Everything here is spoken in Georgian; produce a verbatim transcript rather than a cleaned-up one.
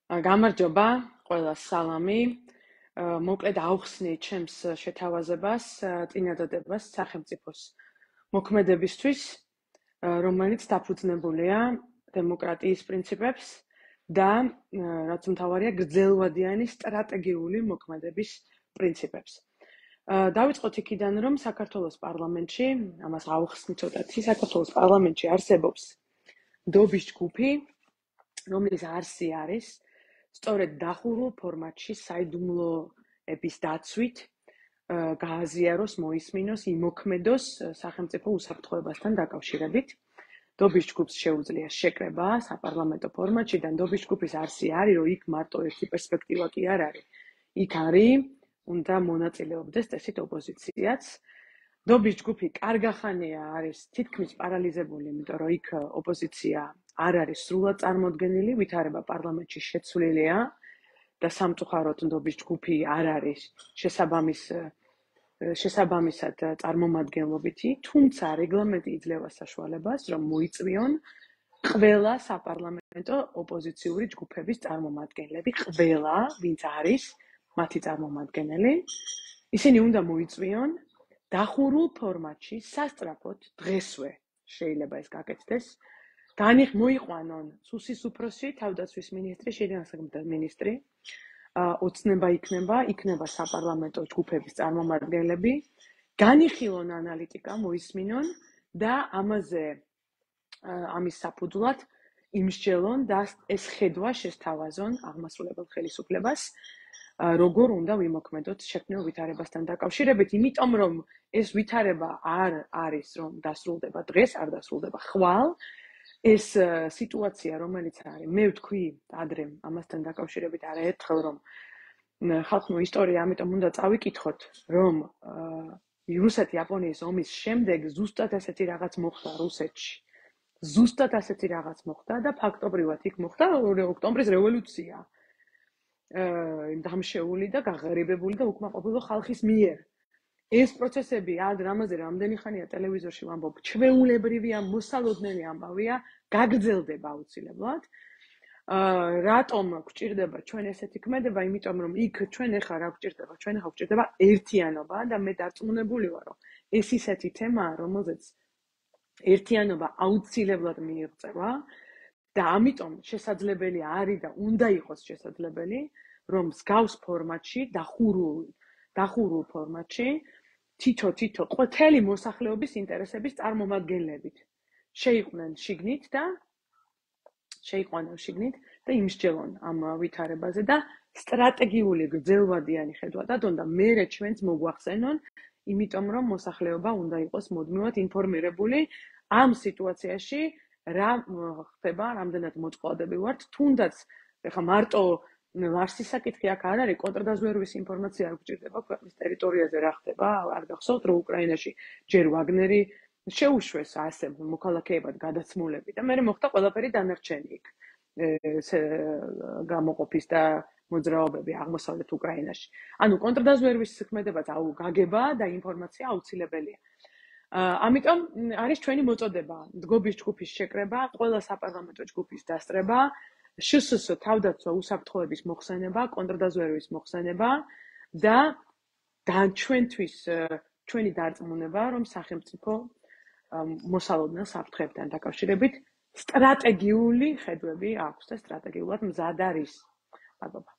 გამარჯობა, ყველას სალამი. მოკლედ ავხსნით ჩემს შეთავაზებას, წინადადებას სახელმწიფოს მოქმედებისთვის, რომელიც დაფუძნებულია დემოკრატიის პრინციპებს და რაც მთავარია გრძელვადიანი სტრატეგიული მოქმედების პრინციპებს. დავიწყოთ იქიდან, რომ საქართველოს პარლამენტში, ამას ავხსნით ცოტათი, საქართველოს პარლამენტში არსებობს ნდობის ჯგუფი, რომლის არსი არის სწორედ დახურულ ფორმატში საიდუმლოების დაცვით გააზიაროს, მოისმინოს, იმოქმედოს სახელმწიფო უსაფრთხოებასთან დაკავშირებით. ნდობის ჯგუფს შეუძლია შეკრება საპარლამენტო ფორმატში და ნდობის ჯგუფის არსი არის, რომ იქ მარტო ერთი პერსპექტივა კი არ არის. იქ არის, უნდა მონაწილეობდეს წესით ოპოზიციაც. ნდობის ჯგუფი კარგახანია არის თითქმის პარალიზებული, იმიტომ რომ იქ ოპოზიცია არ არის სრულად წარმოდგენილი, ვითარება პარლამენტში შეცვლილია და სამწუხაროდ ნდობის ჯგუფი არ არის შესაბამის შესაბამისად წარმომადგენლობითი, თუმცა რეგლამენტი იძლევა საშუალებას, რომ მოიწვიონ ყველა საპარლამენტო ოპოზიციური ჯგუფების წარმომადგენლები, ყველა, ვინც არის მათი წარმომადგენელი, ისინი უნდა მოიწვიონ დახურულ ფორმატში სასწრაფოდ დღესვე შეიძლება ეს გაკეთდეს. განიხ მოიყვანონ სუსის უფროსი, თავდაცვის მინისტრი, შინაგან საქმეთა მინისტრი, ოცნება იქნება, იქნება საპარლამენტო ჯგუფების წარმომადგენლები, განიხილონ ანალიტიკა, მოისმინონ და ამაზე ამის საფუძვლად იმსჯელონ და ეს ხედვა შესთავაზონ აღმასრულებელ ხელისუფლებას, როგორ უნდა ვიმოქმედოთ შექმნილ ვითარებასთან დაკავშირებით, იმიტომ რომ ეს ვითარება არ არის რომ დასრულდება დღეს, არ დასრულდება ხვალ. ეს სიტუაცია, რომელიც არის, მე ვთქვი ადრე ამასთან დაკავშირებით არაერთხელ, რომ ხალხურ ისტორია, ამიტომ უნდა წავიკითხოთ, რომ რუსეთ-იაპონიის ომის შემდეგ ზუსტად ასეთი რაღაც მოხდა რუსეთში. ზუსტად ასეთი რაღაც მოხდა და ფაქტობრივად იქ მოხდა ოქტომბრის რევოლუცია. დამშეული და გაღარიბებული და უკმაყოფილო ხალხის მიერ. ეს პროცესები ადრე ამაზე რამდენი ხანია ტელევიზორში ვამბობ, ჩვეულებრივია, მოსალოდნელი ამბავია, გაგრძელდება აუცილებლად. რატომ გვჭირდება ჩვენ ესეთი ქმედება? იმიტომ რომ იქ ჩვენ ახლა რა გვჭირდება? ჩვენ ახლა გვჭირდება ერთიანობა და მე დარწმუნებული ვარ, რომ ეს ისეთი თემაა, რომელზეც ერთიანობა აუცილებლად მიიღწევა და ამიტომ შესაძლებელი არის და უნდა იყოს შესაძლებელი, რომ მსგავს ფორმატში, დახურულ დახურულ ფორმატში თითო-თითო ყველი მოსახლეობის ინტერესების წარმომადგენლებით შეიყვნენ შიგნით და შეიყვანონ შიგნით და იმსჯელონ ამ ვითარებაზე და სტრატეგიული გრძელვადიანი ხედვა დადონ და მერე ჩვენც მოგვახსენონ, იმიტომ რომ მოსახლეობა უნდა იყოს მუდმივად ინფორმირებული ამ სიტუაციაში რა ხდება, რამდენად მოწყვლადები ვართ, თუნდაც ეხლა მარტო ლარსის საკითხი აქ არ არის, კონტრდაზვერვის ინფორმაცია არ გვჭირდება ქვეყნის ტერიტორიაზე რა ხდება, არ გახსოვთ, რომ უკრაინაში ჯერ ვაგნერი შეუშვეს ასე მოქალაქეებად გადაცმულები და მერე მოხდა ყველაფერი დანარჩენი იქ გამოყოფის და მოძრაობები აღმოსავლეთ უკრაინაში. ანუ კონტრდაზვერვის ქმედებაც აუ გაგება და ინფორმაცია აუცილებელია. ამიტომ არის ჩვენი მოწოდება, ნდობის ჯგუფის შეკრება, ყველა საპარლამენტო ჯგუფის დასწრება, შსს თავდაცვა უსაფრთხოების მოხსენება, კონტრდაზვერვის მოხსენება და და ჩვენთვის ჩვენი დარწმუნება, რომ სახელმწიფო მოსალოდნელ საფრთხეებთან დაკავშირებით სტრატეგიული ხედვები აქვს და სტრატეგიულად მზად არის. მადლობა.